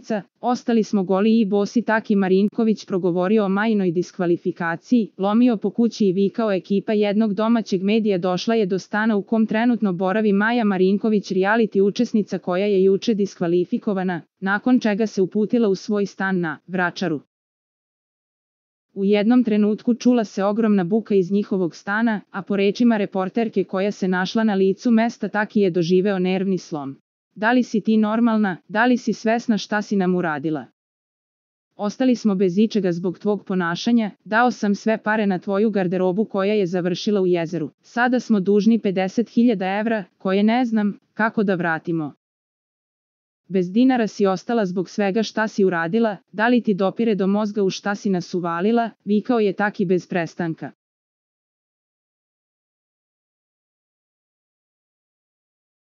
učesnica, ostali smo goli i bosi. Taki Marinković progovorio o Majinoj diskvalifikaciji, lomio po kući i vikao. Ekipa jednog domaćeg medija došla je do stana u kom trenutno boravi Maja Marinković, reality učesnica koja je juče diskvalifikovana, nakon čega se uputila u svoj stan na Vračaru. U jednom trenutku čula se ogromna buka iz njihovog stana, a po rečima reporterke koja se našla na licu mesta, Taki je doživeo nervni slom. Da li si ti normalna, da li si svesna šta si nam uradila? Ostali smo bez ičega zbog tvog ponašanja, dao sam sve pare na tvoju garderobu koja je završila u jezeru. Sada smo dužni 50.000 evra, koje ne znam kako da vratimo. Bez dinara si ostala zbog svega šta si uradila, da li ti dopire do mozga u šta si nas uvalila, vikao je Taki bez prestanka.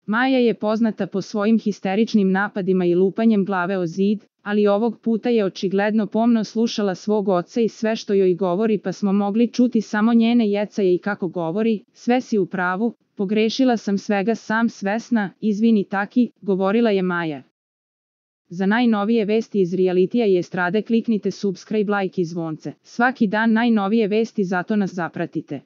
Maja je poznata po svojim histeričnim napadima i lupanjem glave o zid, ali ovog puta je očigledno pomno slušala svog oca i sve što joj govori, pa smo mogli čuti samo njene jecaje i kako govori. Sve si u pravu, pogrešila sam, svega sam svesna, izvini Taki, govorila je Maja. Za najnovije vesti iz realitija i estrade kliknite subscribe, like i zvonce. Svaki dan najnovije vesti, zato nas zapratite.